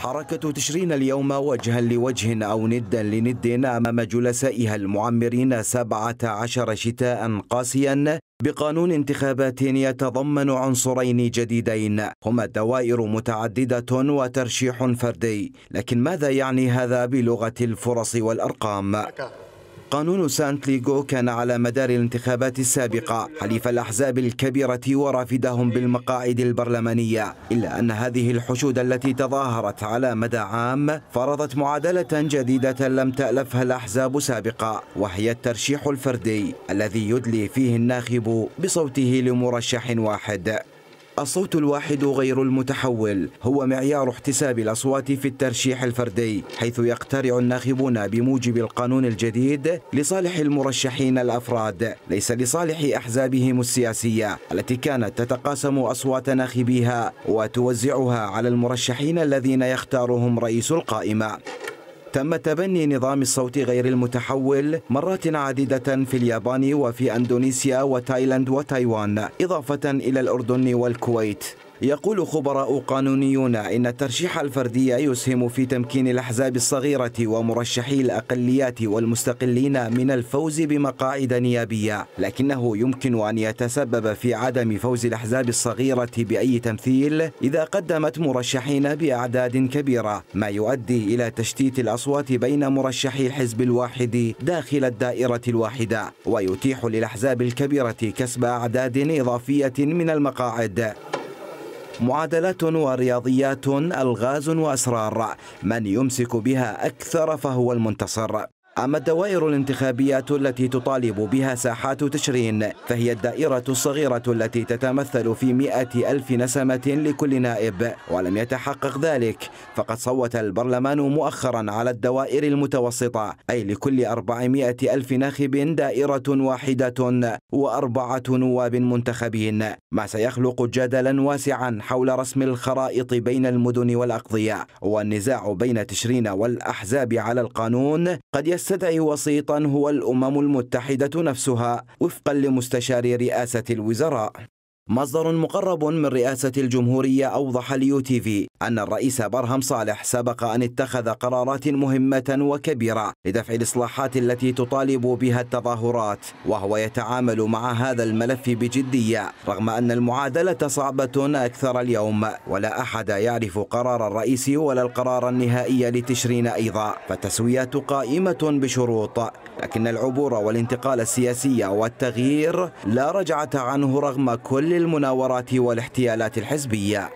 حركة تشرين اليوم وجها لوجه أو ندا لند أمام جلسائها المعمرين 17 شتاء قاسيا بقانون انتخابات يتضمن عنصرين جديدين هما دوائر متعددة وترشيح فردي. لكن ماذا يعني هذا بلغة الفرص والأرقام؟ قانون سانت ليغو كان على مدار الانتخابات السابقة حليف الأحزاب الكبيرة ورافدهم بالمقاعد البرلمانية، إلا أن هذه الحشود التي تظاهرت على مدى عام فرضت معادلة جديدة لم تألفها الأحزاب سابقا، وهي الترشيح الفردي الذي يدلي فيه الناخب بصوته لمرشح واحد. الصوت الواحد غير المتحول هو معيار احتساب الأصوات في الترشيح الفردي، حيث يقترع الناخبون بموجب القانون الجديد لصالح المرشحين الأفراد، ليس لصالح أحزابهم السياسية التي كانت تتقاسم أصوات ناخبيها وتوزعها على المرشحين الذين يختارهم رئيس القائمة. تم تبني نظام الصوت غير المتحول مرات عديدة في اليابان وفي أندونيسيا وتايلاند وتايوان، إضافة إلى الأردن والكويت. يقول خبراء قانونيون إن الترشيح الفردي يسهم في تمكين الأحزاب الصغيرة ومرشحي الأقليات والمستقلين من الفوز بمقاعد نيابية، لكنه يمكن أن يتسبب في عدم فوز الأحزاب الصغيرة بأي تمثيل إذا قدمت مرشحين بأعداد كبيرة، ما يؤدي إلى تشتيت الأصوات بين مرشحي الحزب الواحد داخل الدائرة الواحدة، ويتيح للأحزاب الكبيرة كسب أعداد إضافية من المقاعد. معادلات ورياضيات، ألغاز وأسرار، من يمسك بها أكثر فهو المنتصر. أما الدوائر الانتخابية التي تطالب بها ساحات تشرين فهي الدائرة الصغيرة التي تتمثل في 100,000 نسمة لكل نائب، ولم يتحقق ذلك، فقد صوت البرلمان مؤخرا على الدوائر المتوسطة، أي لكل 400,000 ناخب دائرة واحدة و4 نواب منتخبين، ما سيخلق جدلا واسعا حول رسم الخرائط بين المدن والأقضية. والنزاع بين تشرين والأحزاب على القانون قد يستدعي وسيطا هو الأمم المتحدة نفسها، وفقا لمستشار رئاسة الوزراء. مصدر مقرب من رئاسة الجمهورية أوضح لUTV أن الرئيس برهم صالح سبق أن اتخذ قرارات مهمة وكبيرة لدفع الإصلاحات التي تطالب بها التظاهرات، وهو يتعامل مع هذا الملف بجدية رغم أن المعادلة صعبة أكثر اليوم، ولا أحد يعرف قرار الرئيس ولا القرار النهائي لتشرين أيضا، فالتسويات قائمة بشروط، لكن العبور والانتقال السياسي والتغيير لا رجعة عنه رغم كل المناورات والاحتيالات الحزبية.